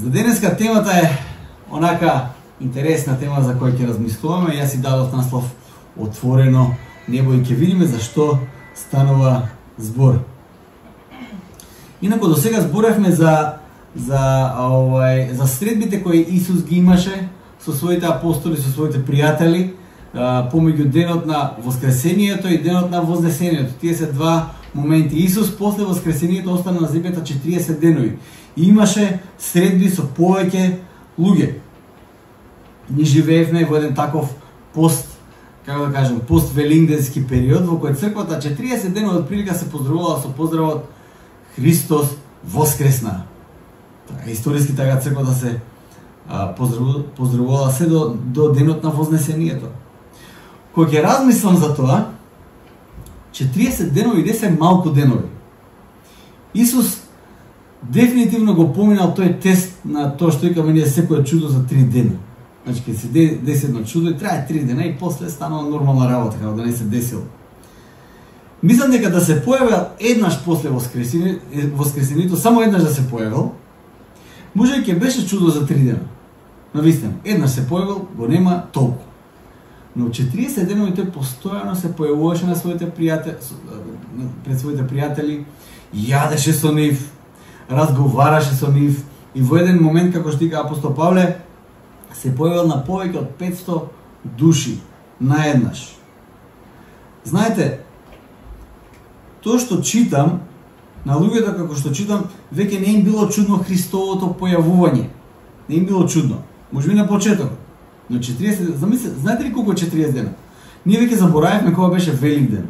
За денеска темата е онака интересна тема за која ќе размислуваме. Јас си дадов наслов Отворено небо и ќе видиме зашто станува збор. Инаку до сега зборевме за средбите кои Исус ги имаше со своите апостоли, со своите пријатели, помеѓу денот на воскресението и денот на вознесението. Тие се два моменти. Исус после воскресението остана на земјата 40 денови и имаше средби со повеќе луѓе. Ние живеевме во еден таков пост-велингденски период во кој црквата 40 денови од прилика се поздравувала со поздравот Христос воскресна. Историски така црквата се поздравувала се до денот на вознесението. Кога ќе размислам за тоа, 40 денови не се малку денови. Исус дефинитивно го поминал тој тест на тоа што викаме ние секој чудо за 3 дена. Значи, ќе се деси едно чудо и трае 3 дена и после станала нормална работа, како да не се десило. Мислам дека да се појавил еднаш после воскресението, само еднаш да се појавил, може и ќе беше чудо за 3 дена. Навистина, еднаш се појавил, го нема толку. Но 40 денови тој постојано се појавуваше на своите пријатели, пред своите пријатели, јадеше со нив, разговараше со нив и во еден момент, како што вика апостол Павле, се појавил на повеќе од 500 души наеднаш. Знаете, тоа што читам, на луѓето како што читам, веќе не им било чудно Христовото појавување. Не им било чудно. Може би на почетокот. Но 40, знаете ли колку е 40 дена? Ние веќе заборавивме кога беше Великден.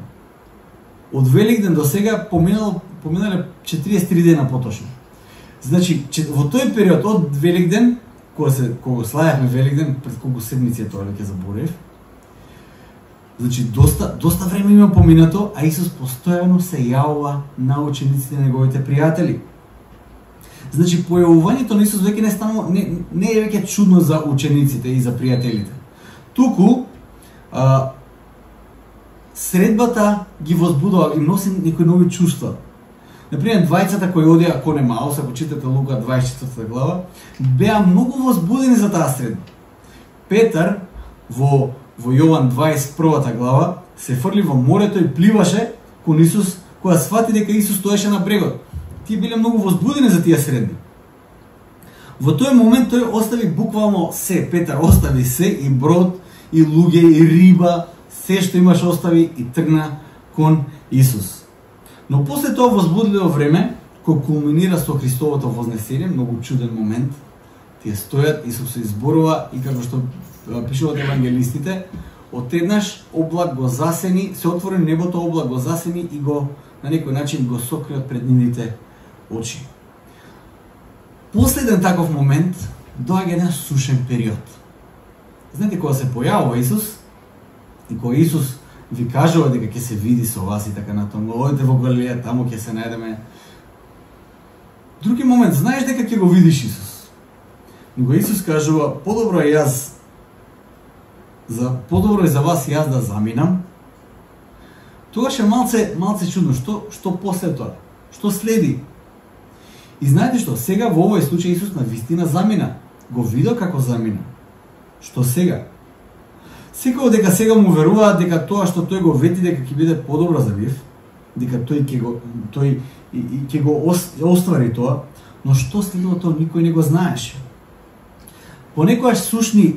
Од Великден до сега поминале 43 дена поточно. Значи, во тој период од Великден, кога славевме Великден, пред колку седмици е тоа веќе заборев. Значи, доста време има поминато, а Исус постојано се јавува на учениците на неговите пријатели. Значи, појавувањето на Исус веќе не е веќе чудно за учениците и за пријателите. Туку, средбата ги возбудува и носи некои нови чувства. Например, двајцата кои одија кон Емаус, ако читате Лука 24 глава, беа многу возбудени за таа средба. Петар во Јован 21 глава се фрли во морето и пливаше кон Исус, кога свати дека Исус стоеше на брегот. Тие биле многу возбудени за тие средби. Во тој момент тој остави буквално се. Петар остави се, и брод, и луѓе, и риба, се што имаш остави и тргна кон Исус. Но после тоа возбудливо време, кој кулминира со Христовото вознесение, многу чуден момент, тие стојат, Исус се изборува и како што пишуваат евангелистите, одеднаш облак го засени, се отвори небото, облак го засени и го на некој начин го сокри од пред нивните очи. Последен таков момент доаѓа еден сушен период. Знаете, кога се појавува Исус и кога Исус ви кажува дека ќе се види со вас и така натаму, одите во Галилеја, таму ќе се најдеме. Други момент, знаеш дека ќе го видиш Исус. Но Исус кажува, подобро е за вас јас да заминам. Тогаш е малце чудно, што после тоа? Што следи? И знаете што, сега во овој случај Исус навистина замина. Го видел како замина. Што сега? Секој дека сега му веруваат дека тоа што тој го вети дека ќе биде подобро за нив, дека тој ќе го оствари тоа, но што следува тоа никој не го знаеше. Понекогаш сушни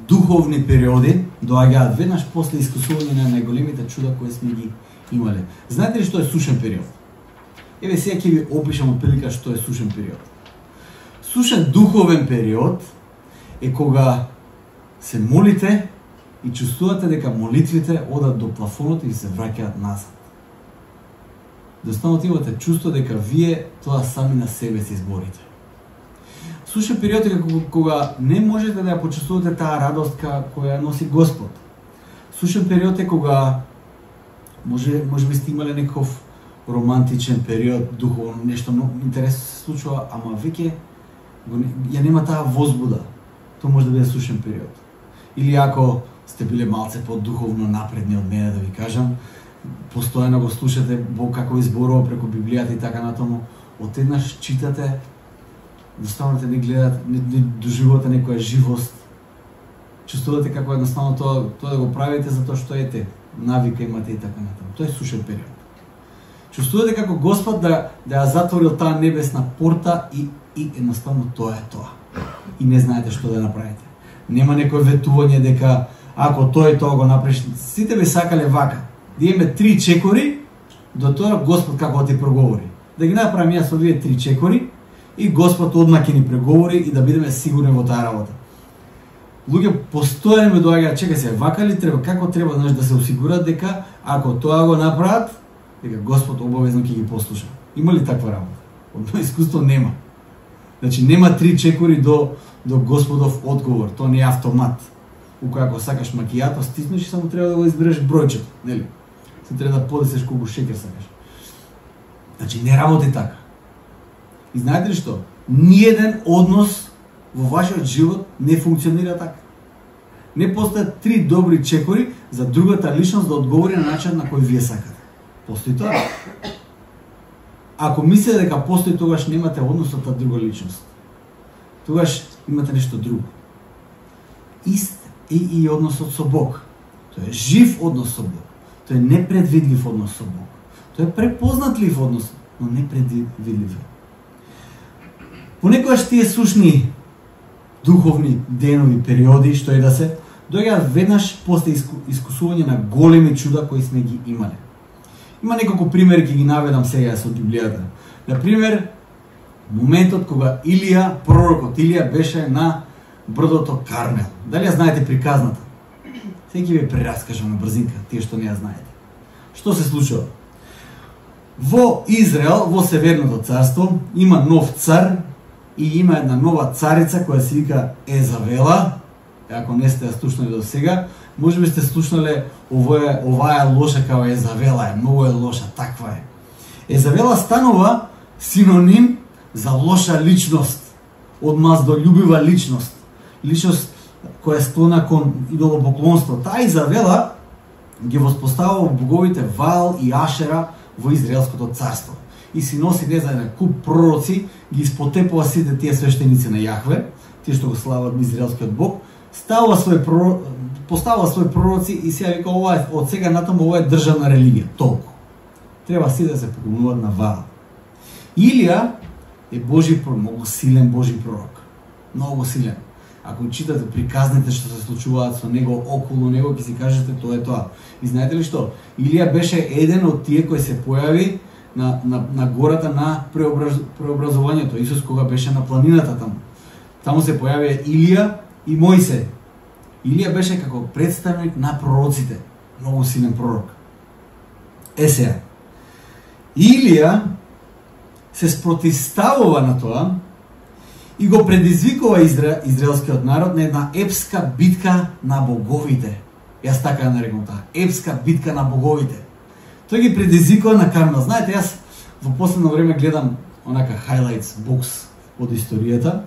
духовни периоди доаѓаат веднаш после искусување на најголемите чуда кои сме ги имале. Знаете ли што е сушен период? Еве сега ќе ви опишам отприлика што е сушен период. Сушен духовен период е кога се молите и чувствувате дека молитвите одат до плафонот и се враќаат назад. Достанот имате чувство дека вие тоа сами на себе се изборите. Сушен период е кога не можете да ја почувствувате таа радост која носи Господ. Сушен период е кога може би сте имале некој романтичен период, духовно, нешто многу интересно се случува, ама веќе ја нема таа возбуда. Тоа може да биде сушен период. Или ако сте биле малце по-духовно напредни од мене, да ви кажам, постојано го слушате Бог како изборува преку Библијата и така натаму, одеднаш читате Едноставно не гледате, не доживувате некоја живост. Чувствувате како едноставно тоа да го правите затоа што навика имате и така натаму. Тоа е сушен период. Чувствувате како Господ да ја затворил таа небесна порта и едноставно тоа е тоа. И не знаете што да направите. Нема некој ветување дека ако тој тоа го направиш, сите би сакале вака. Да имаме 3 чекори, до тоа Господ како ти проговори. Да ги направам јас овие 3 чекори и Господ одма ќе ни преговори и да бидеме сигурни во таа работа. Луѓе постојано ми доаѓаат, чекај се, вака ли треба, како треба да се осигурат дека ако тоа го направат, дека Господ обавезно ќе ги послуша. Има ли таква работа? Од моје искуство нема. Значи нема 3 чекори до Господов одговор, тоа не е автомат. Уко ако сакаш макијато, стиснеш и само треба да го избереш бројчето, нели? Се треба да подесеш колку шекер сакаш. Значи не работи така. И знаете ли што? Ниеден однос во вашиот живот не функционира така. Не постојат 3 добри чекори за другата личност да одговори на начин на кој вие сакате. Постои тоа. Ако мислите дека постои, тогаш немате однос со таа друга личност. Тогаш имате нешто друго. Ист е и односот со Бог. Тоа е жив однос со Бог. Тоа е непредвидлив однос со Бог. Тоа е препознатлив однос, но непредвидлив. Понекогаш тие сушни духовни денови, периоди, што и да се, доаѓаат веднаш после искусување на големи чуда кои сме ги имале. Има неколку примери, ќе ги наведам сега со Библијата. Например, моментот кога Илија, пророкот Илија беше на брдото Кармел. Дали ја знаете приказната? Сега ќе ви прераскажам на брзинка, тие што не ја знаете. Што се случува? Во Израел, во Северното царство, има нов цар и има една нова царица која се вика Езавела. Ако не сте ја слушнали до сега, може би сте слушнале оваа лоша као Езавела е, многу е лоша, таква е. Езавела станува синоним за лоша личност, одмаздолюбива личност, личност која е склона кон идолопоклонство. Таа Изавела ги воспоставува боговите Ваал и Ашера во Израелското царство. И си носи, не знае, куп пророци, ги испотепува сите тие свештеници на Јахве, тие што го слават израелскиот Бог, поставува своји пророци и сега вика, ова е, од сега натаму ова е државна религија, толку. Треба си да се поклонуваат на Ваал. Илија е Божи пророк, многу силен Божи пророк. Многу силен. Ако читате приказните што се случуваат со него, околу него, ќе си кажете тоа е тоа. И знаете ли што? Илија беше еден од тие кои се појави на гората на преобразувањето. Исус кога беше на планината таму. Таму се појавија Илија и Мојсе. Илија беше како представник на пророците. Многу силен пророк. Сега. Илија се спротивставува на тоа и го предизвикува израелскиот народ на една епска битка на боговите. Јас така ја нарекам таа. Епска битка на боговите. Тој ги предизвикува на Кармел. Знаете, јас во последно време гледам онака highlights бокс од историјата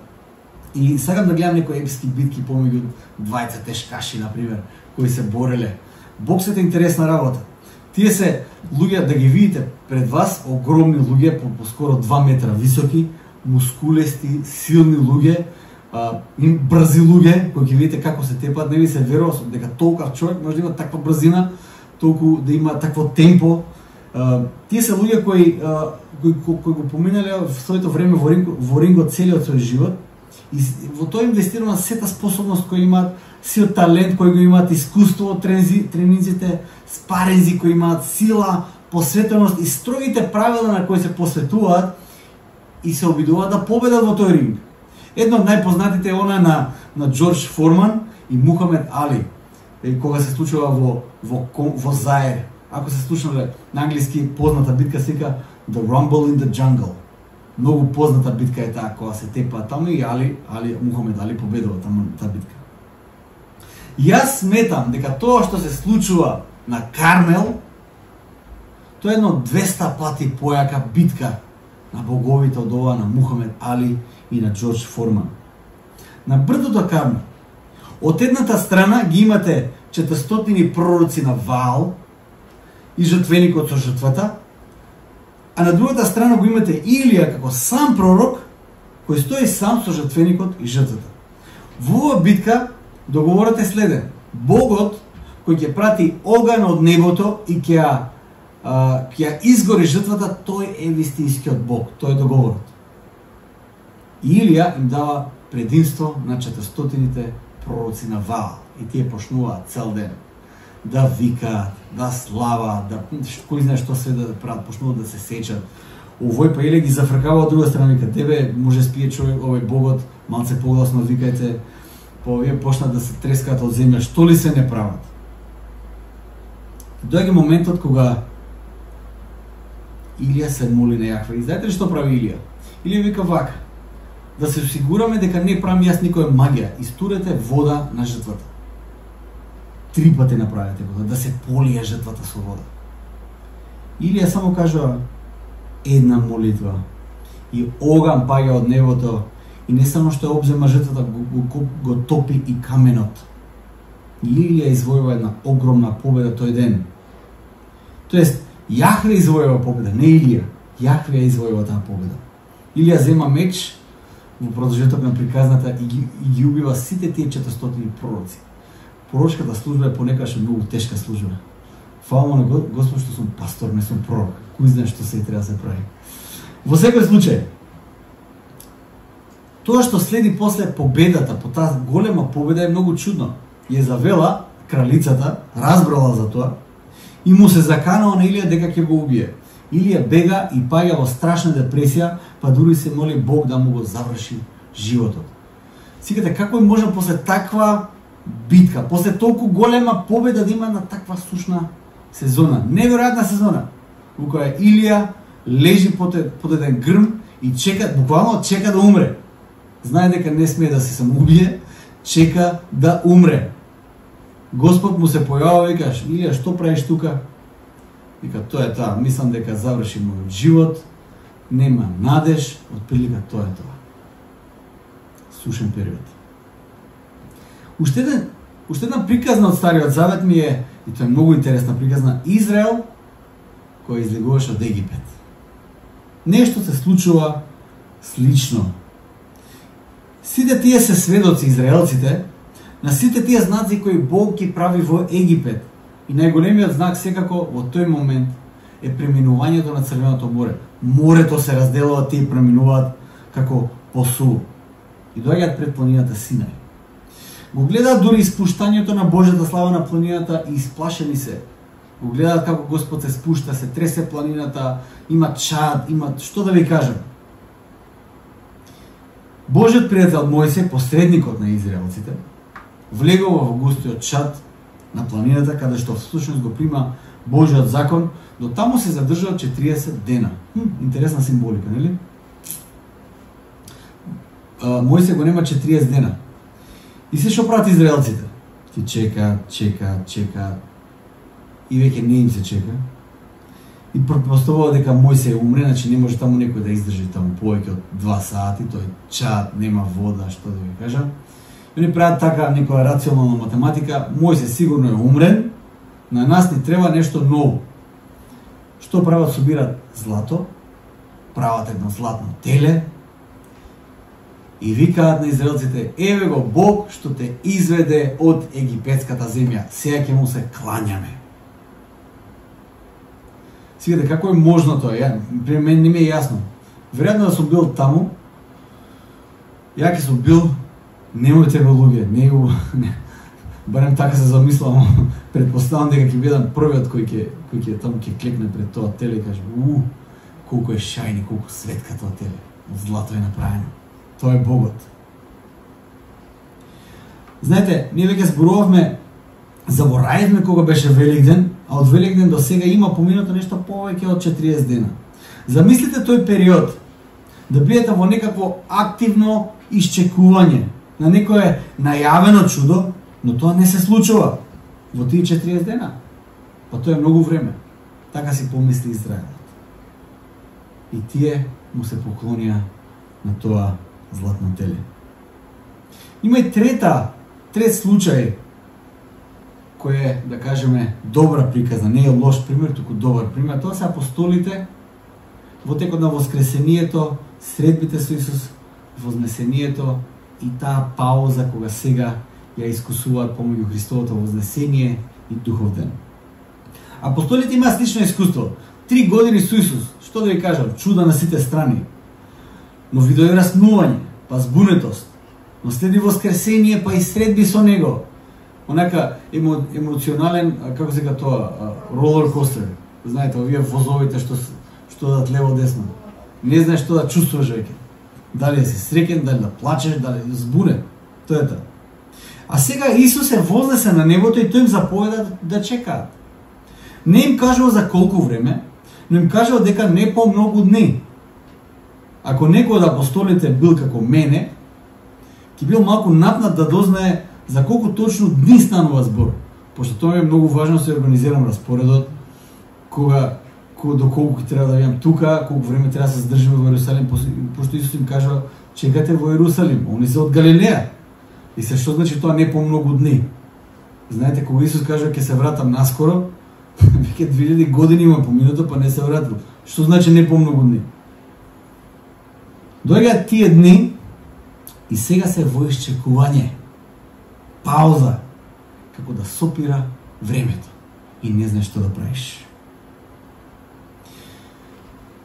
и сакам да гледам некои епски битки помеѓу двајца тешкаши, например, кои се бореле. Боксот е интересна работа. Тие се луѓе, да ги видите пред вас, огромни луѓе, по скоро 2 метра високи, мускулести, силни луѓе, брзи луѓе, кои ги видите како се тепат, не ви се верува дека толков човек може да има таква брзина, толку да има такво темпо. Тие се луѓе кои го поминале в своето време во рингот целиот свој живот и во тоа инвестирано сета способност кој имаат, сиот талент кој го имаат, искуство, тренинзите, спаринзи кои имаат, сила, посветеност и строгите правила на кои се посветуваат и се обидуваат да победат во тој ринг. Едно од најпознатите е она на Џорџ Форман и Мухамед Али, кога се случува во Заир. Ако се слушнале на англиски, позната битка се вика The Rumble in the Jungle. Многу позната битка е таа кога се тепа таму и Мухамед Али победува таму таа битка. Јас сметам дека тоа што се случува на Кармел, тоа е едно 200 пати појака битка на боговите од ова на Мухамед Али и на Џорџ Форман. На брдото Кармел, од едната страна ги имате 400 пророци на Ваал и жртвеникот со жртвата, а на другата страна го имате Илија како сам пророк кој стои сам со жртвеникот и жртвата. Во оваа битка договорот е следен. Богот кој ќе прати оган од небото и ќе ја изгори жртвата, тој е вистинскиот Бог, тој е договорот. И Илија им дава предимство на 400-тите пророци на Ваал и тие почнуваат цел ден да викаат, да славаат, да кој знае што се да прават, почнуваат да се сечат. Овој па Илија ги зафркава од друга страна, вика: "Тебе може спие човек, овој Богот, малце погласно викајте." Па овие почнат да се трескаат од земја, што ли се не прават. Доаѓа моментот кога Илија се моли на Јахве. И знаете ли што прави Илија? Илија вика вака: "Да се осигураме дека не правам јас никоја магија, истурете вода на жртвата." 3 пати направете го, да се полие жртвата со вода. Илија само кажува една молитва и оган паѓа од небото и не само што обзема жртвата, го топи и каменот. И Илија извојува една огромна победа тој ден. Тоест, Јахве извојува победа, не Илија. Јахве ја извојува таа победа. Илија зема меч во продолжеток на приказната и ги убива сите тие 400 пророци. Пророчката служба е понекогаш многу тешка служба. Фала на Господ што сум пастор, не сум пророк. Кој знае што се треба да се прави. Во секој случај, тоа што следи после победата, по таа голема победа е многу чудно. Језавела, кралицата, разбрала за тоа и му се заканала на Илија дека ќе го убие. Илија бега и паѓа во страшна депресија, па дури се моли Бог да му го заврши животот. Сикате, како може после таква битка, после толку голема победа да има на таква сушна сезона, неверојатна сезона, во која Илија лежи под еден грм и чека, буквално чека да умре. Знае дека не смее да се самоубие, чека да умре. Господ му се појавува и каже: "Илија, што правиш тука?" Вика: "Тоа е таа, мислам дека заврши мојот живот, нема надеж, отприлика тоа е тоа." Сушен период. Уште една приказна од Стариот Завет ми е, и тоа е многу интересна приказна, Израел кој излегуваше од Египет. Нешто се случува слично. Сите тие се сведоци, израелците, на сите тие знаци кои Бог ги прави во Египет. И најголемиот знак секако во тој момент е преминувањето на Црвеното море. Морето се разделува, тие преминуваат како посул и доаѓаат пред планината Синај. Го гледаат дури испуштањето на Божјата слава на планината и исплашени се. Го гледаат како Господ се спушта, се тресе планината, има чад, има што да ви кажам. Божјиот пријател Мојсе, посредникот на израелците, влегува во густиот чад на планината, каде што всушност го прима Божјиот закон, до таму се задржува 40 дена. Интересна символика, нели? Мојсе го нема 40 дена. И се што прават израелците? Ти чека, и веќе не им се чека. И претпоставува дека Мојсе умре, значи не може таму некој да издржи таму повеќе од 2 сати, тој чад, нема вода, што да ви кажам. И они прават така некоја рационална математика, Мојсе сигурно е умрен, на нас ни треба нешто ново. Што прават? Собират злато, прават едно златно теле и викаат на израелците: "Еве го Бог што те изведе од египетската земја, сега ќе му се клањаме." Сигате, како е можно тоа? При мен не ми е јасно. Веројатно да сум бил таму, ја ќе сум бил, немојте во луѓе, не, барем така се замислам, предпоставам дека ќе бидам првиот кој ќе таму ќе клекне пред тоа теле и каже: колку е шајни, колку светка тоа теле, од злато е направено. Тоа е Богот. Знаете, ние веќе зборувавме, заборавивме кога беше Великден, а од Великден до сега има поминато нешто повеќе од 40 дена. Замислите тој период да бидете во некакво активно исчекување на некое најавено чудо, но тоа не се случува во тие 40 дена. Па тоа е многу време. Така си помисли Израелот. И тие му се поклонија на тоа златно теле. Има и трет случај кој е, да кажеме, добра приказна, не е лош пример, туку добар пример. Тоа се апостолите во текот на воскресението, средбите со Исус, вознесението и таа пауза кога сега ја искусуваат помеѓу Христовото вознесение и духов ден. Апостолите имаат слично искуство. 3 години со Исус, што да ви кажам, чуда на сите страни. Но ви дојде раснување, па збунетост, но следи воскресение, па и средби со него. Онака емоционален, како се ка тоа, ролер костер. Знаете, овие возовите што дадат лево десно. Не знаеш што да чувствуваш веќе. Дали си среќен, дали да плачеш, дали збунет. Тоа е тоа. А сега Исус се вознесе на небото и тој им заповеда да чекаат. Не им кажува за колку време, но им кажува дека не помногу дни. Ако некој од апостолите бил како мене, ќе бил малку напнат да дознае за колку точно дни станува збор. Пошто тоа е многу важно да се организирам распоредот, до колку ќе треба да бидам тука, колку време треба да се задржиме во Ерусалим, пошто Исус им кажува чекате во Ерусалим, они се од Галилеја. И се што значи тоа не помногу дни. Знаете, кога Исус кажува ќе се вратам наскоро, веќе 2000 години има поминато, па не се вратил. Што значи не помногу дни? Доаѓаат тие дни и сега се во исчекување. Пауза, како да сопира времето и не знаеш што да правиш.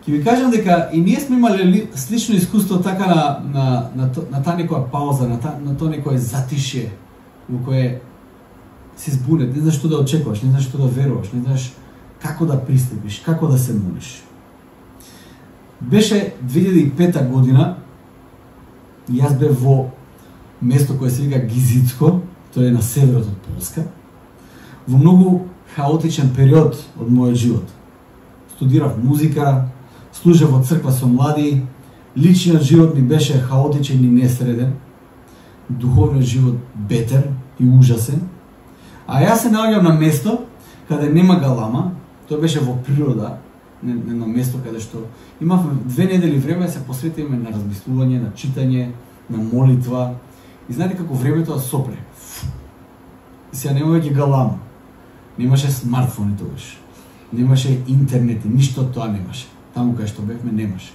Ќе ви кажам дека и ние сме имали слично искуство така на таа некоја пауза, на тоа некое затишје во кое си збунет, не знаеш што да очекуваш, не знаеш што да веруваш, не знаеш како да пристапиш, како да се молиш. Беше 2005 година и јас бев во место кое се вика Гизицко, тоа е на северот од Полска, во многу хаотичен период од мојот живот. Студирав музика, служев во црква со млади, личниот живот ми беше хаотичен и несреден, духовниот живот бетер и ужасен, а јас се наоѓам на место каде нема галама, тоа беше во природа, едно место каде што имавме 2 недели време да се посветиме на размислување, на читање, на молитва. И знаете како времето да сопре. И сега нема веќе галама. Немаше смартфони тогаш. Немаше интернет, ништо тоа немаше. Таму кај што бевме немаше.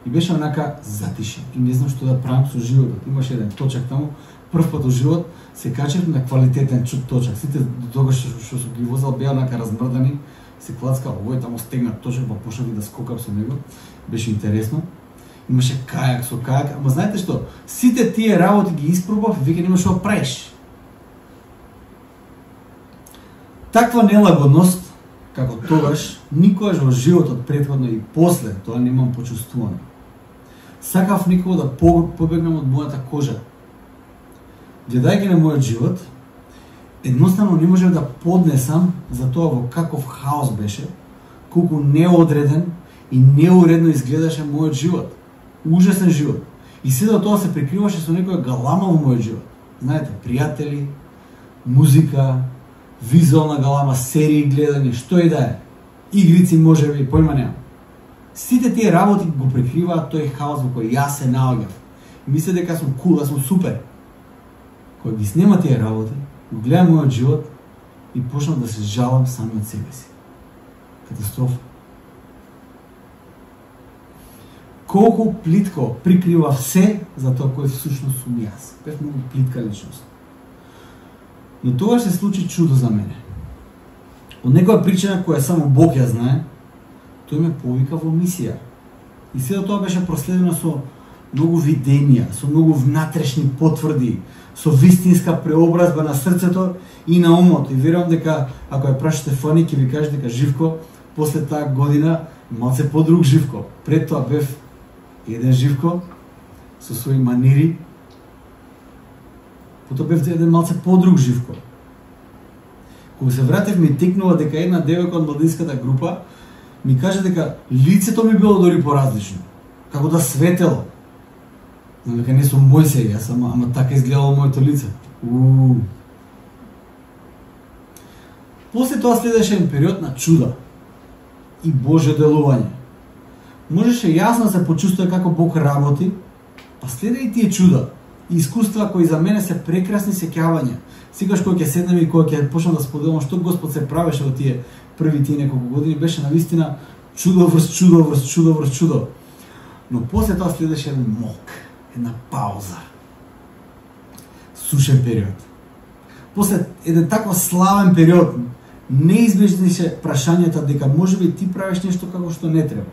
И беше онака затишен. И не знам што да правам со животот. Имаше еден точак таму. Прв пат во живот се качев на квалитетен точак. Сите до тогаш што сум ги возел беа онака размрдани. Се клацка, овој таму стегнат точак, па почнав и да скокам со него. Беше интересно. Имаше кајак со кајак, ама знаете што? Сите тие работи ги испробав и веќе нема што да правиш. Таква нелагодност, како тогаш, никогаш во животот претходно и после тоа немам почувствувано. Сакав никога да побегнам од мојата кожа. Гледајќи на мојот живот, едноставно не можев да поднесам за тоа во каков хаос беше, колку неодреден и неуредно изгледаше мојот живот. Ужасен живот. И седо тоа се прикриваше со некоја галама во мојот живот. Знаете, пријатели, музика, визуална галама, серии гледање, што и да е. Игрици можеби, појма немам. Сите тие работи го прикриваат тој хаос во кој јас се наоѓав. Мисле дека сум кул, да сум супер. Кога ги снема тие работи, го гледам мојот живот и почнав да се жалам сами од себе си. Катастрофа. Колку плитко прикрива се за тоа кој всушност сум јас. Бев многу плитка личност. Но тоа се случи чудо за мене. Од некоја причина која само Бог ја знае, тој ме повика во мисија. И сето тоа беше проследено со многу видења, со многу внатрешни потврди, со вистинска преобразба на срцето и на умот. И верувам дека ако ја прашате Фани, ќе ви каже дека Живко после таа година малце подруг Живко. Пред тоа бев еден Живко со своји манири. Потоа бев еден малце подруг Живко. Кога се вратев, ми текнува дека една девојка од младинската група ми каже дека лицето ми било дори поразлично. Како да светело. Знам дека не сум Мојсей, јас ама така изгледало моето лице. После тоа следеше еден период на чуда и Божјо делување. Можеше јасно да се почувствува како Бог работи, па следе и тие чуда и искуства кои за мене се прекрасни сеќавања. Секогаш кога ќе седнем и кога ќе почнам да споделам што Господ се правеше во тие неколку години, беше навистина чудо врз чудо врз чудо врз чудо. Но после тоа следеше еден мок, една пауза. Сушен период. После еден таков славен период, неизбежни се прашањата дека можеби ти правиш нешто како што не треба.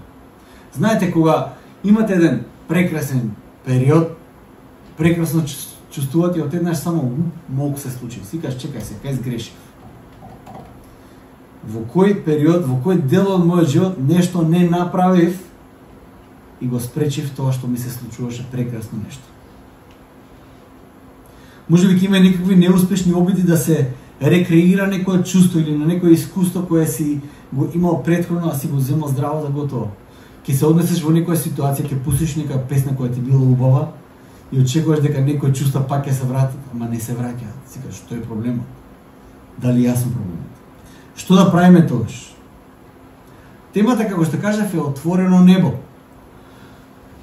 Знаете, кога имате еден прекрасен период, прекрасно чувствувате, одеднаш само мок се случи. Си кажеш, чекај се, кај сгрешив. Во кој период, во кој дел од мојот живот нешто не направив и го спречив тоа што ми се случуваше прекрасно нешто. Можеби ќе има некакви неуспешни обиди да се рекреира некое чувство или на некое искуство кое си го имал претходно, а си го земал здраво за готово. Ќе се однесеш во некоја ситуација, ќе пуштиш нека песна која ти била убава и очекуваш дека некој чувства пак ќе се вратат, ама не се враќаат. Си кажеш, што е проблемот? Дали јас сум проблемот? Што да правиме тогаш? Темата, како што кажав, е отворено небо.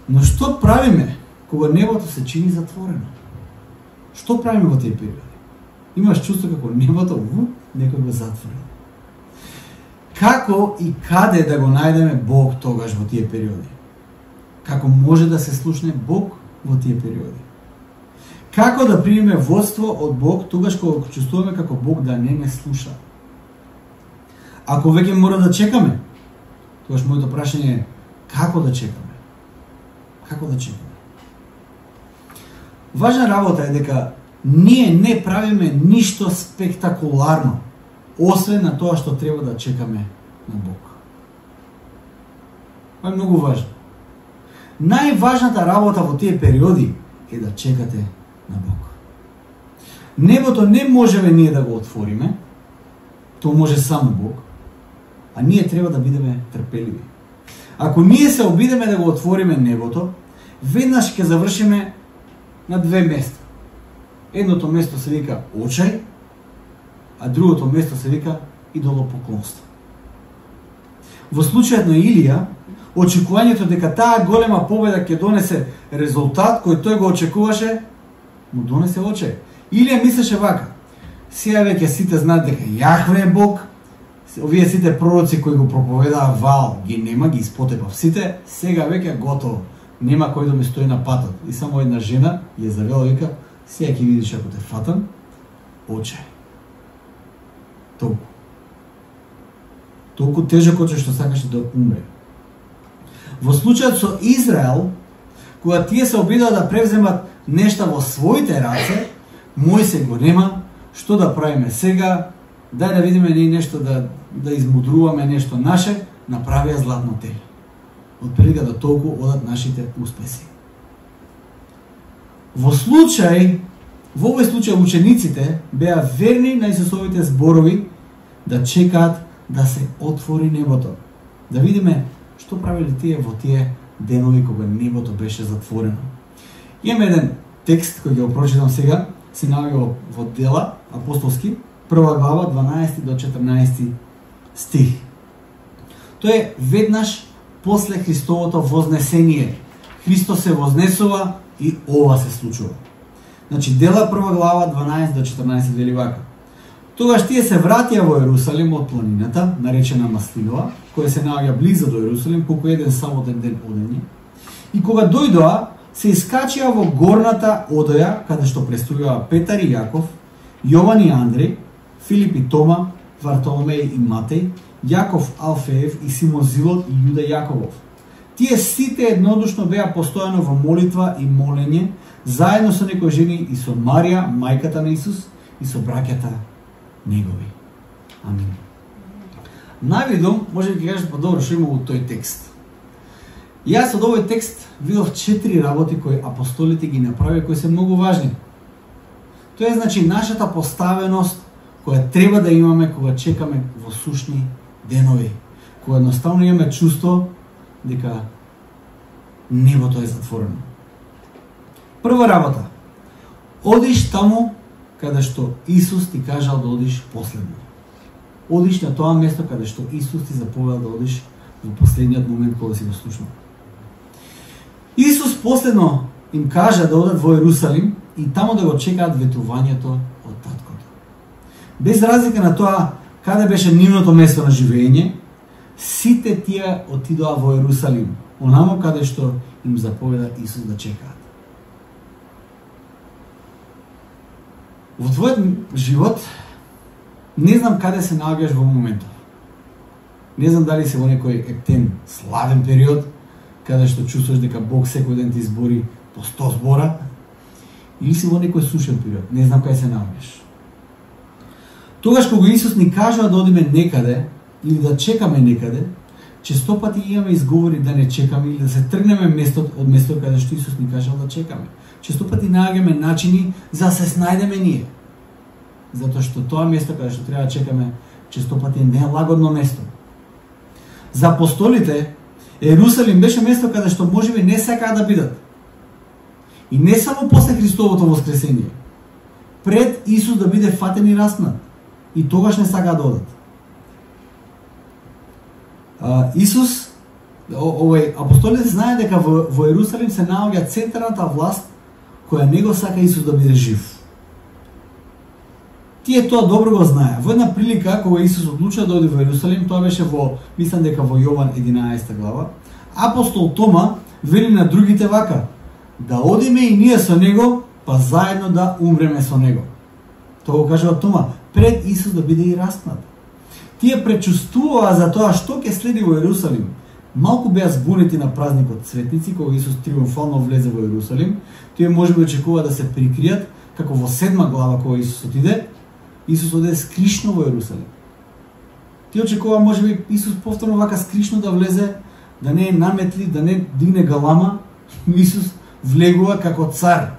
Но што правиме кога небото се чини затворено? Што правиме во тие периоди? Имаш чувство како небото некој го затвори. Како и каде да го најдеме Бог тогаш во тие периоди? Како може да се слушне Бог во тие периоди? Како да примеме водство од Бог тогаш кога чувствуваме како Бог да не ме слуша? Ако веќе мора да чекаме, тогаш моето прашање е како да чекаме? Како да чекаме? Важна работа е дека ние не правиме ништо спектакуларно, освен на тоа што треба да чекаме на Бог. Това е многу важно. Најважната работа во тие периоди е да чекате на Бог. Небото не можеме ние да го отвориме, тоа може само Бог, а ние треба да бидеме трпеливи. Ако ние се обидеме да го отвориме небото, веднаш ќе завршиме на две места. Едното место се вика очај, а другото место се вика идолопоклонство. Во случајот на Илија, очекувањето дека таа голема победа ќе донесе резултат кој тој го очекуваше, му донесе очај. Илија мислеше вака: сега веќе сите знаат дека Јахве е Бог, овие сите пророци кои го проповедаа Ваал ги нема, ги испотепав сите, сега веќе готово. Нема кој да ми стои на патот. И само една жена ја завела, вика: сега ќе видиш ако те фатам, очај. Толку тежок очај што сакаше да умре. Во случајот со Израел, кога тие се обидаа да превземат нешта во своите раце, Мојсе го нема, што да правиме сега, дај да видиме ние нешто да измудруваме нешто наше, направија златно теле. Од прилика да толку одат нашите успеси. Во овој случај учениците беа верни на Исусовите зборови да чекаат да се отвори небото. Да видиме што правили тие во тие денови кога небото беше затворено. Имаме еден текст кој ќе го прочитам сега, се наоѓа во Дела апостолски, 1 глава 12 до 14 стих. Тоа е веднаш после Христовото вознесение. Христос се вознесува и ова се случува. Значи, Дела 1 глава 12 до 14 вели вака: Тогаш тие се вратија во Ерусалим од планината, наречена Маслинова, која се наоѓа близо до Ерусалим, колку еден саботен ден одење. И кога дојдоа, се искачија во горната одоја, каде што престојува Петар и Јаков, Јован и Андреј, Филип и Тома, Вартоломеј и Матеј, Јаков Алфеев и Симон Зилот и Јуда Јаковов. Тие сите еднодушно беа постојано во молитва и молење, заедно со некои жени и со Марија, мајката на Исус, и со браќата негови. Амин. Навидом, може да ќе кажеш подобро што има во тој текст. Јас од овој текст видов 4 работи кои апостолите ги направи, кои се многу важни. Тоа е значи нашата поставеност која треба да имаме кога чекаме во сушни денови, кога едноставно имаме чувство дека небото е затворено. Прва работа: одиш таму каде што Исус ти кажал да одиш последно. Одиш на тоа место каде што Исус ти заповедал да одиш во последниот момент кога си го слушнал. Исус последно им кажа да одат во Ерусалим и таму да го чекаат ветувањето од таткото. Без разлика на тоа каде беше нивното место на живење, сите тие отидоа во Ерусалим, онамо каде што им заповеда Исус да чекаат. Во твојот живот не знам каде се наоѓаш во моментов. Не знам дали се во некој ептен славен период каде што чувствуваш дека Бог секој ден ти збори по 100 збора, или си во некој сушен период. Не знам каде се наоѓаш. Тогаш кога Исус ни кажува да одиме некаде или да чекаме некаде, често пати имаме изговори да не чекаме или да се тргнеме од местото каде што Исус ни кажал да чекаме. Често пати наоѓаме начини за да се снајдеме ние. Затоа што тоа место каде што треба да чекаме често пати е нелагодно место. За апостолите Ерусалим беше место каде што можеби не сакаа да бидат. И не само после Христовото воскресение. Пред Исус да биде фатен и распнат. И тогаш не сакаа да одат. Исус, апостолите знаат дека во Ерусалим се наоѓа центарната власт која не го сака Исус да биде жив. Тие тоа добро го знаеа. Во една прилика кога Исус одлучува да оди во Ерусалим, тоа беше мислам дека во Јован 11 глава, апостол Тома вели на другите вака: да одиме и ние со него, па заедно да умреме со него. Тоа го кажува Тома пред Исус да биде и распнат. Тие пречувствуваа за тоа што ќе следи во Ерусалим. Малку беа збунети на празникот Цветници, кога Исус триумфално влезе во Ерусалим. Тие можеби очекува да се прикријат, како во 7 глава кога Исус отиде, Исус оде скришно во Ерусалим. Тие очекува можеби Исус повторно вака скришно да влезе, да не наметли, да не дигне галама. Исус влегува како цар.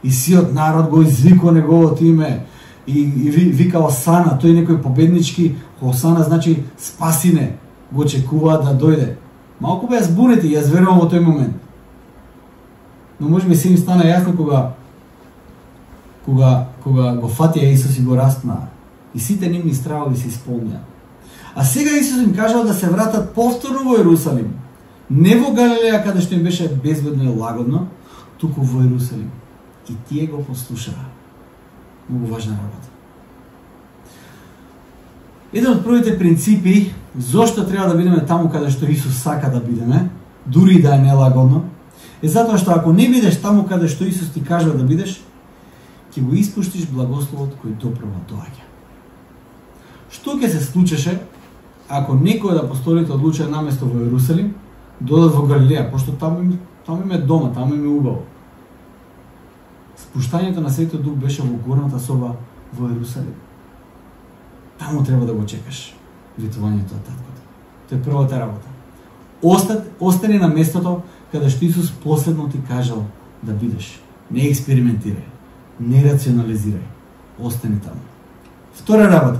И сиот народ го извикува неговото име и вика Осана, тој некој победнички, Осана значи спасине, го очекува да дојде. Малку беа збунети, јас верувам во тој момент. Но можеби се им стана јасно кога го фатија Исус и го распнаа. И сите нивни стравови се исполнија. А сега Исус им кажал да се вратат повторно во Ерусалим. Не во Галилеја, каде што им беше безбедно и лагодно, туку во Ерусалим. И тие го послушаа. Многу важна работа. Еден од првите принципи зошто треба да бидеме таму каде што Исус сака да бидеме, дури и да е нелагодно, е затоа што ако не бидеш таму каде што Исус ти кажува да бидеш, ќе го испуштиш благословот кој доправо доаѓа. Што ќе се случеше ако некој од апостолите одлучува наместо во Ерусалим, додат во Галилеја, пошто таму им е дома, таму им е убаво. Спуштањето на Светиот Дух беше во горната соба во Ерусалим. Таму треба да го чекаш витувањето од таткото. Тоа е првата работа. Остани на местото каде што Исус последно ти кажал да бидеш. Не експериментирај, не рационализирај. Остани таму. Втора работа.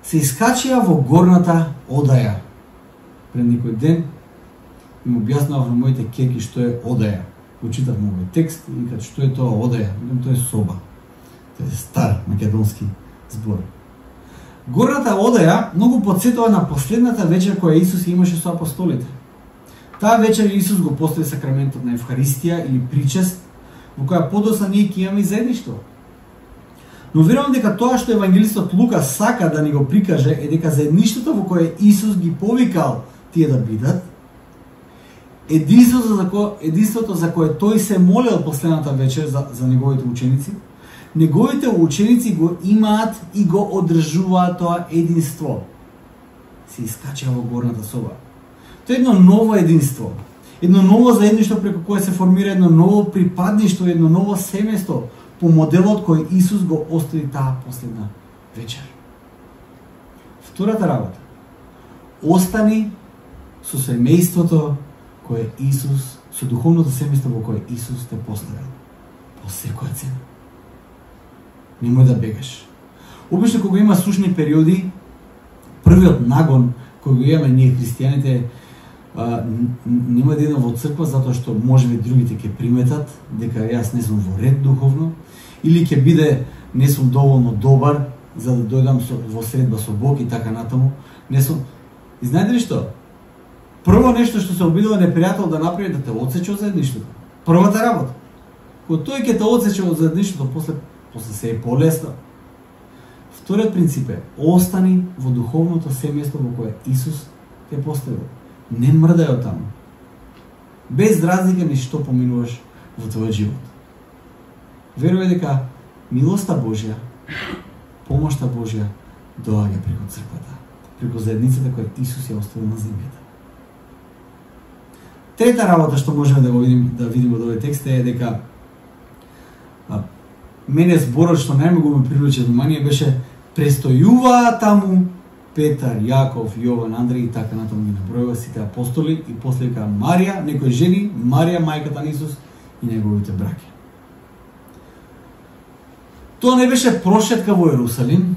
Се искачија во горната одаја. Пред некој ден им објаснував на моите ќерки што е одаја. Го читав овој текст и кажа што е тоа одаја. Тоа е соба. Тоа е стар македонски збор. Горната одаја многу потсетува на последната вечер која Исус имаше со апостолите. Таа вечер Исус го постави сакраментот на Евхаристија или причест, во која подоцна ние ќе имаме заедништво. Но верувам дека тоа што евангелистот Лука сака да ни го прикаже е дека заедништвото во кое Исус ги повикал тие да бидат, единството за кое тој се молел последната вечер за неговите ученици, неговите ученици го имаат и го одржуваат тоа единство. Се искача во горната соба. Тоа е едно ново единство, едно ново заедништво преку кое се формира едно ново припадништво, едно ново семејство по моделот кој Исус го остави таа последна вечер. Втората работа. Остани со семејството кое Исус, со духовното семејство во кое Исус те поставил. По секоја цена. Немој да бегаш. Обично кога има сушни периоди, првиот нагон кој го имаме ние христијаните, нема да идам во црква затоа што можеби другите ќе приметат дека јас не сум во ред духовно или ќе биде не сум доволно добар за да дојдам во средба со Бог и така натаму. Не сум. И знаете ли што? Прво нешто што се обидува непријател да направи да те отсече од заедништвото. Првата работа. Кога тој ќе те отсече од заедништвото, после се е полесно. Вториот принцип е остани во духовното семејство во кое Исус те поставил. Не мрдај од таму. Без разлика ни што поминуваш во твојот живот. Верувај дека милоста Божја, помошта Божја доаѓа преку црквата, преку заедницата која Исус ја оставил на земјата. Трета работа што можеме да видиме од овој текст е дека мене зборот што најмногу ме привлече внимание беше престојуваа таму Петар, Јаков, Јован, Андреј и така натаму ги набројува сите апостоли и после вика Марија, некои жени, Марија мајката на Исус и неговите браќа. Тоа не беше прошетка во Ерусалим,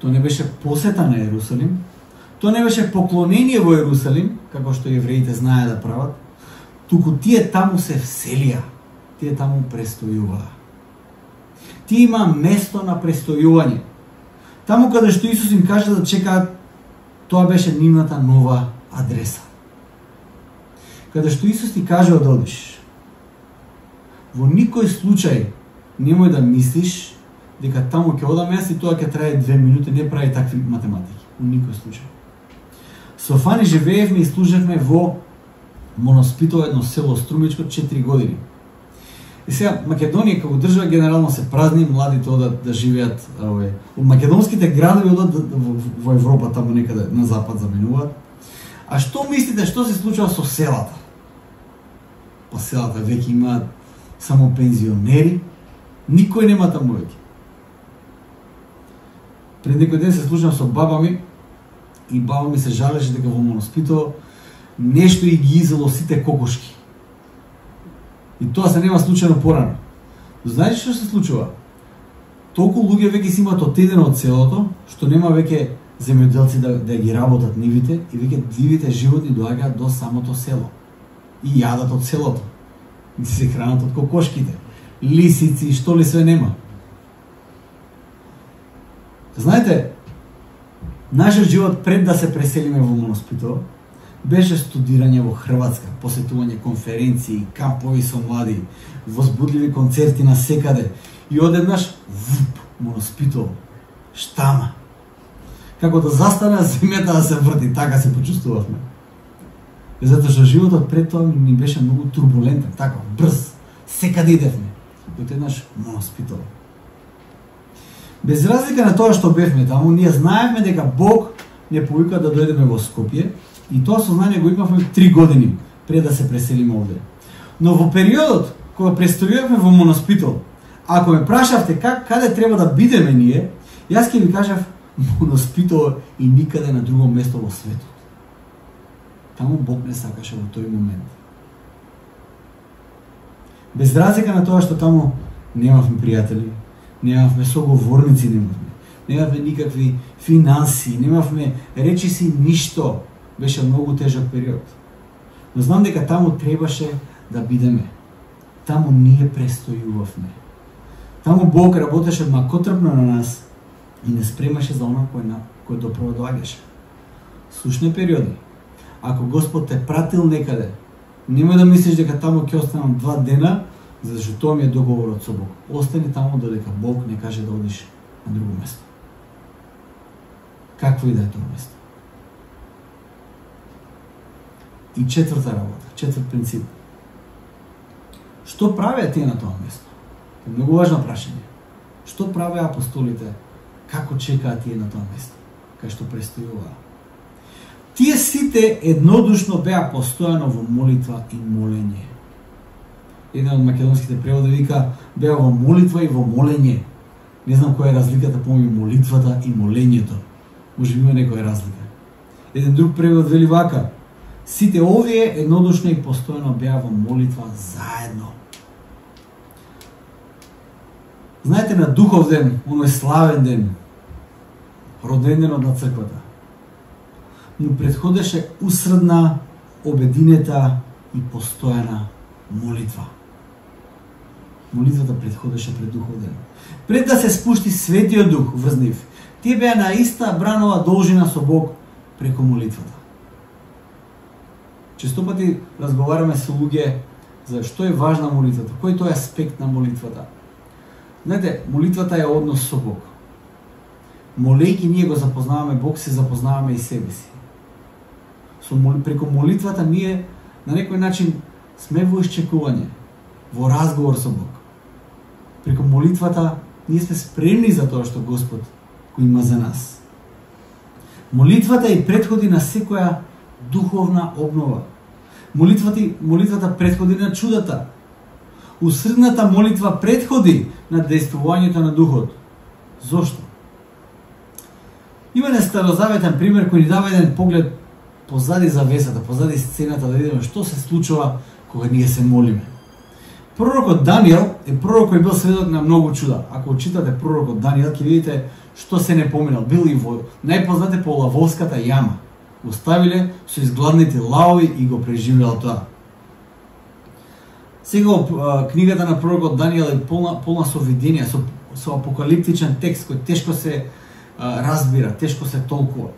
тоа не беше посета на Ерусалим, тоа не беше поклонение во Ерусалим, како што евреите знаеа да прават, туку тие таму се вселија, тие таму престојуваа. Тие има место на престојување. Таму каде што Исус им каже да чекаат, тоа беше нивната нова адреса. Каде што Исус ти каже да одиш, во никој случај немој да мислиш дека таму ќе одам јас и тоа ќе трае 2 минути, не прави такви математики. Во никој случај. Со Фани живеевме и служевме во Моноспитово, едно село Струмичко, 4 години. И сега Македонија како држава генерално се празни, младите одат да живеат од македонските градови одат во Европа, таму некаде на запад заминуваат. А што мислите што се случува со селата? Па селата веќе имаат само пензионери, никој нема таму веќе. Пред некој ден се слушам со баба ми и баба ми се жалеше дека во Моноспитово нешто и ги изело сите кокошки. И тоа се нема случајно порано. Знаете што се случува? Толку луѓе веќе си имаат отедено од селото, што нема веќе земјоделци да ги работат нивите и веќе дивите животни доаѓаат до самото село. И јадат од селото. И се хранат од кокошките. Лисици, што ли све нема. Знаете, нашиот живот пред да се преселиме во Моноспитово беше студирање во Хрватска, посетување конференции, кампови со млади, возбудливи концерти на секаде и одеднаш Моноспитово, штама. Како да застане земјата да се врти, така се почувствувавме. Затоа што животот пред тоа ни беше многу турбулентен, така брз, секаде идевме. Одеднаш Моноспитово. Без разлика на тоа што бевме таму, ние знаевме дека Бог не повика да дојдеме во Скопје и тоа сознание го имавме 3 години пред да се преселиме овде. Но во периодот кога престојувавме во Моноспитово, ако ме прашавте каде треба да бидеме ние, јас ќе ви кажав Моноспитово и никаде на друго место во светот. Таму Бог не сакаше во тој момент. Без разлика на тоа што таму немавме пријатели, немавме соговорници, немавме никакви финанси, немавме речиси ништо. Беше многу тежок период. Но знам дека таму требаше да бидеме. Таму ние престојувавме. Таму Бог работеше макотрпно на нас и не спремаше за она кој доправо доаѓаше. Сушни периоди. Ако Господ те пратил некаде, немој да мислиш дека таму ќе останам 2 дена, зашто тоа ми е договорот со Бог. Остани таму додека Бог не каже да одиш на друго место. Какво и да е тоа место. И четврта работа, четврт принцип. Што правеа тие на тоа место? Е многу важно прашање. Што правеа апостолите? Како чекаат тие на тоа место? Кај што престојуваа? Тие сите еднодушно беа постојано во молитва и молење. Еден од македонските преводи вика беа во молитва и во молење. Не знам која е разликата помеѓу молитвата и молењето. Може би има некоја разлика. Еден друг превод вели вака: сите овие еднодушно и постојано беа во молитва заедно. Знаете, на Духов ден, оној славен ден, роден денот на црквата, му претходеше усредна, обединета и постојана молитва. Молитвата претходеше пред Духов ден. Пред да се спушти Светиот Дух врз нив, тие беа на иста бранова должина со Бог преку молитвата. Често пати разговараме со луѓе за што е важна молитвата, кој тој аспект на молитвата. Знаете, молитвата е однос со Бог. Молејќи ние го запознаваме Бог, се запознаваме и себе си. Преку молитвата ние на некој начин сме во исчекување, во разговор со Бог. Преку молитвата ние сме спремни за тоа што Господ го има за нас. Молитвата и претходи на секоја духовна обнова. Молитвата претходи на чудата. Усредната молитва претходи на дејствувањето на Духот. Зошто? Има еден старозаветен пример кој ни дава еден поглед позади завесата, позади сцената, да видиме што се случува кога ние се молиме. Пророкот Даниел е пророк кој бил сведок на многу чуда. Ако читате пророкот Даниел, ќе видите што се не поминал. Бил и во најпознате по лавовската јама. Го ставиле со изгладните лаови и го преживеал тоа. Сега книгата на пророкот Даниел е полна со видења, со апокалиптичен текст кој тешко се разбира, тешко се толкува.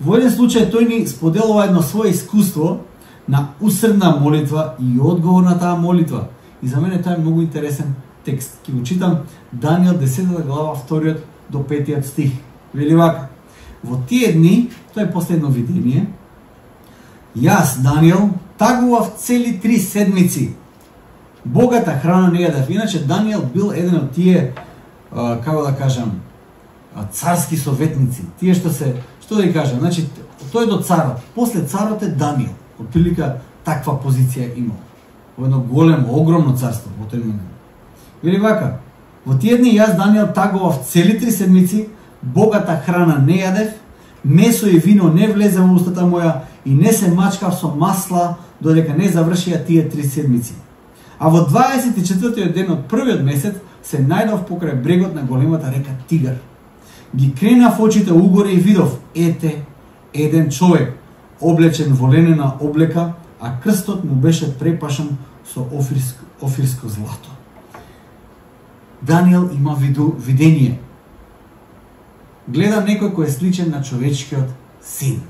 Во еден случај тој ни споделува едно свое искуство на усредна молитва и одговор на таа молитва. И за мене тоа е многу интересен текст. Ќе го читам Даниел 10 глава 2 до 5 стих. Вели вака: во тие дни, тоа е последно видение, јас, Даниел, тагував цели 3 седмици. Богата храна не јадев. Иначе Даниел бил еден од тие, како да кажам, царски советници. Тие што да кажам, значи тој до царот, после царот е Даниел. Отприлика таква позиција имал. Во едно големо, огромно царство во тој момент. Вели вака: во тие дни јас, Даниел, тагував цели 3 седмици, богата храна не јадев, месо и вино не влезе во устата моја и не се мачкав со масла додека не завршија тие 3 седмици. А во 24-тиот ден од првиот месец се најдов покрај брегот на големата река Тигар. Ги кренав очите угоре и видов, ете, еден човек, облечен во ленена облека, а крстот му беше препашан со офирско злато. Даниел има видение. Гледа некој кој е сличен на човечкиот син.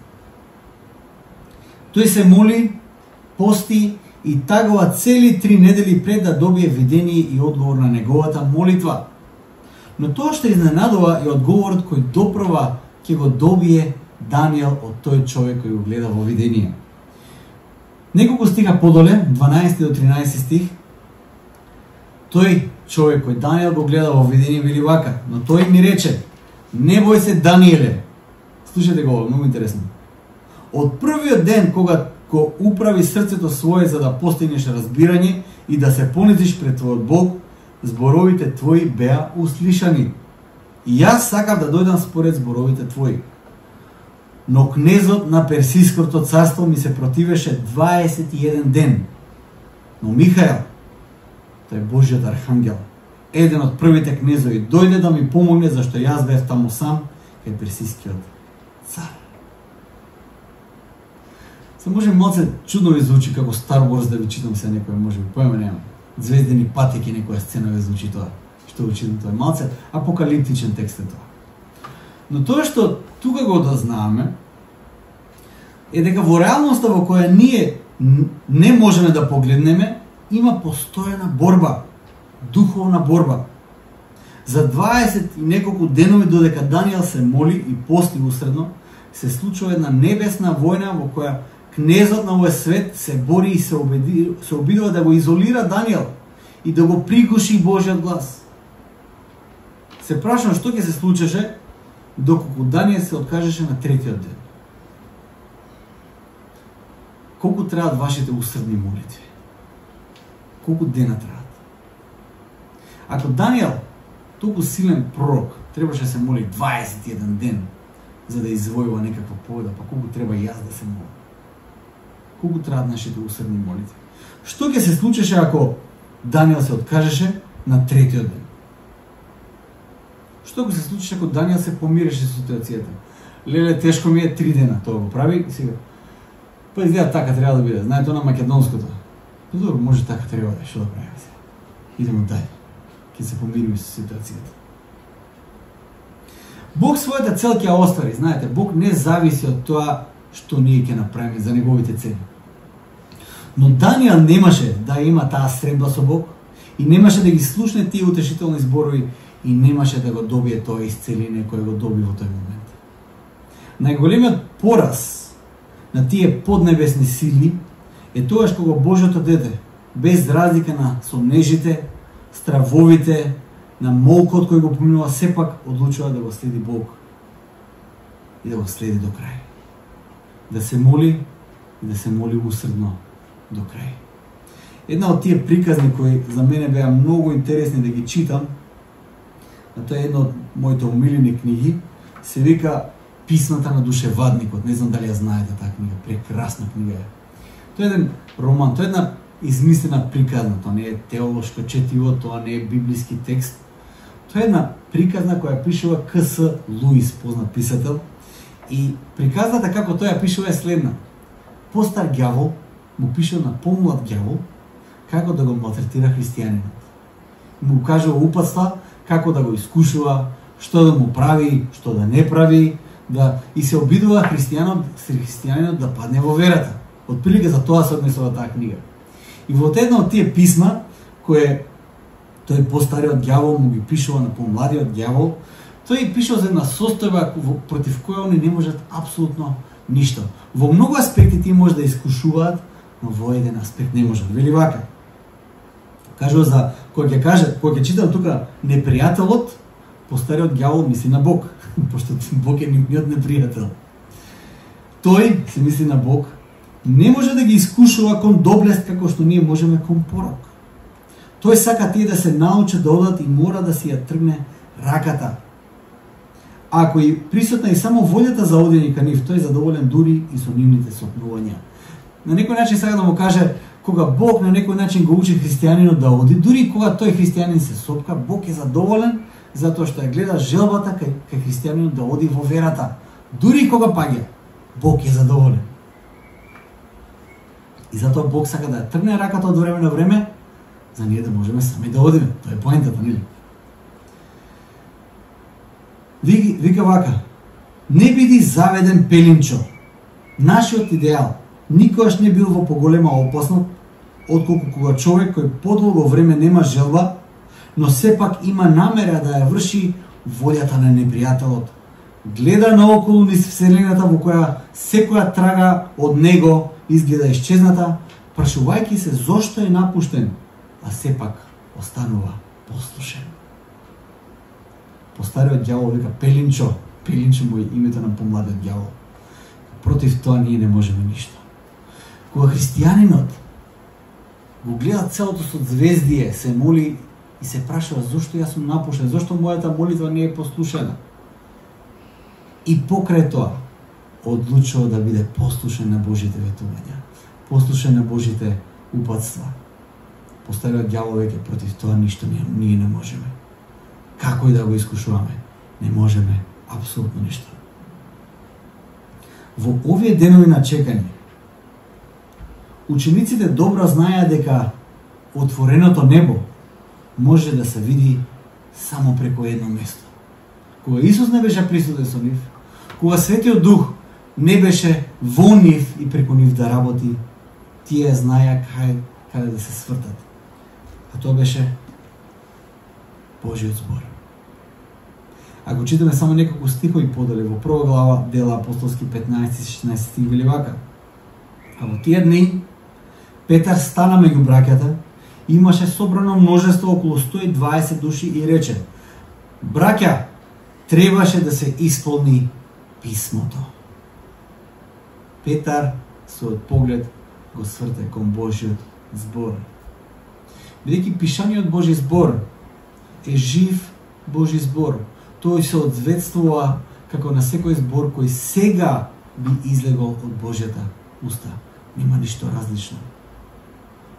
Тој се моли, пости и тагува цели 3 недели пред да добие видение и одговор на неговата молитва. Но тоа што изненадува е одговорот кој допрва ќе го добие Даниел од тој човек кој го гледа во видение. Неколку стиха подоле, 12 до 13 стих, тој човек кој Даниел го гледа во видение вели вака: но тој ми рече: не бој се, Даниеле. Слушате го, многу интересно. Од првиот ден кога го управи срцето свое за да постигнеш разбирање и да се понизиш пред твојот Бог, зборовите твои беа услишани. И јас сакав да дојдам според зборовите твои. Но кнезот на Персиското царство ми се противеше 21 ден. Но Михаел, тој Божјиот архангел, еден од првите кнезови, дојде да ми помогне зашто јас бев таму сам кај персискиот цар. Се може малце чудно ви звучи како Star Wars да ви читам се некој, може би поема немам. Звездени патеки некоја сцена ви звучи тоа. Што го читам тоа е малце апокалиптичен текст е тоа. Но тоа што тука го дознаваме е дека во реалноста во која ние не можеме да погледнеме, има постојана борба, духовна борба. За 20 и неколку денови додека Даниел се моли и пости усредно, се случува една небесна војна во која кнезот на овој свет се бори и се обидува да го изолира Даниел и да го пригуши Божјиот глас. Се прашувам што ќе се случеше доколку Даниел се откажеше на 3-тиот ден. Колку траат вашите усредни молитви? Колку дена траат? Ако Даниел, толку силен пророк, требаше да се моли 21 ден за да извојува некаква победа, па колку треба и јас да се молам? Колку траат нашите усредни молитви? Што ќе се случеше ако Даниел се откажеше на 3-тиот ден? Што ќе се случеше ако Даниел се помиреше со ситуацијата? Леле, тешко ми е 3 дена, тоа го прави сега. Па изгледа така треба да биде. Знаете на македонското. Добро, може така треба да, што да правиме сега? Идемо дај. Ќе се помириме со ситуацијата. Бог својата цел ќе ја оствари, знаете, Бог не зависи од тоа што ние ќе направиме за неговите цели. Но Даниел немаше да има таа средба со Бог и немаше да ги слушне тие утешителни зборови и немаше да го добие тоа исцеление кое го доби во тој момент. Најголемиот пораз на тие поднебесни сили е тогаш кога Божјото дете, без разлика на сомнежите, стравовите, на молкот кој го поминува, сепак одлучува да го следи Бог и да го следи до крај. Да се моли и да се моли усредно до крај. Една од тие приказни кои за мене беа многу интересни да ги читам, а тоа е една од моите омилени книги, се вика Писмата на душевадникот. Не знам дали ја знаете таа книга, прекрасна книга е. Тоа е еден роман, тоа е една измислена приказна, тоа не е теолошко четиво, тоа не е библиски текст. Тоа е една приказна која пишува К.С. Луис, познат писател, и приказната како тој ја пишува е следна. Постар ѓавол му пишува на помлад ѓавол како да го малтретира христијанинот. Му кажува упатства како да го искушува, што да му прави, што да не прави, и се обидува христијанинот да падне во верата. Отприлика за тоа се однесува таа книга. И во една од тие писма, кое тој постариот ѓавол му ги пишува на помладиот ѓавол, тој пишува за една состојба против која они не можат апсолутно ништо. Во многу аспекти тие може да искушуваат, но во еден аспект не можат. Вели вака. Кажува за кој ќе читам тука непријателот, постариот ѓавол мисли на Бог, пошто Бог е нивниот непријател. Тој се мисли на Бог, не може да ги искушува кон доблест како што ние можеме кон порок. Тој сака тие да се научат да одат и мора да си ја тргне раката. Ако и присутна и само волјата за одење кон нив, тој е задоволен дури и со нивните сопнувања. На некој начин сака да му каже, кога Бог на некој начин го учи христијанинот да оди, дури кога тој христијанин се сопка, Бог е задоволен затоа што ја гледа желбата кај христијанинот да оди во верата. Дури кога паѓа, Бог е задоволен. И затоа Бог сака да ја тргне раката од време на време, за ние да можеме сами да одиме. Тоа е поентата, нели? Вика вака: не биди заведен пелинчо. Нашиот идеал никогаш не бил во поголема опасност отколку кога човек кој подолго време нема желба, но сепак има намера да ја врши волјата на непријателот. Гледа наоколу низ вселената во која секоја трага од него изгледа исчезната, прашувајќи се зошто е напуштен, а сепак останува послушен. Постариот ѓавол вика пелинчо, пелинчо му е името на помладиот ѓавол. Против тоа ние не можеме ништо. Кога христијанинот го гледа целото со звездие, се моли и се прашува зошто јас сум напуштен, зошто мојата молитва не е послушена. И покрај тоа одлучува да биде послушен на Божите ветувања, послушен на Божите упатства. Постариот ѓавол веќе против тоа ништо ние не можеме. Како и да го искушуваме, не можеме апсолутно ништо. Во овие денови на чекање, учениците добро знаеа дека отвореното небо може да се види само преку едно место. Кога Исус не беше присутен со нив, кога Светиот Дух не беше во нив и преку нив да работи, тие знаеа каде да се свртат. А тоа беше Божиот збор. Ако читаме само неколку стихови подале во прва глава Дела апостолски 15-16 стих вели вака: а во тие дни Петар стана меѓу браќата, имаше собрано множество околу 120 души и рече: браќа, требаше да се исполни писмото. Петар својот поглед го сврте кон Божиот збор. Бидејќи пишаниот Божи збор е жив Божи збор, тој се одзвестува како на секој збор кој сега би излегол од Божјата уста. Нема ништо различно.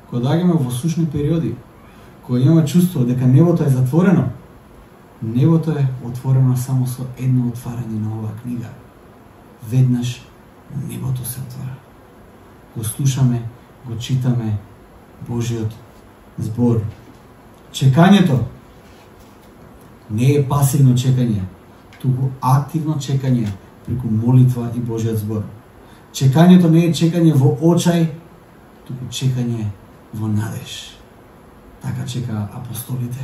Кога доаѓаме во сушни периоди, кога имаме чувство дека небото е затворено, небото е отворено само со едно отварање на оваа книга. Веднаш небото се отвора. Го слушаме, го читаме Божиот збор. Чекањето не е пасивно чекање, туку активно чекање преку молитва и Божиот збор. Чекањето не е чекање во очај, туку чекање во надеж. Така чекаа апостолите.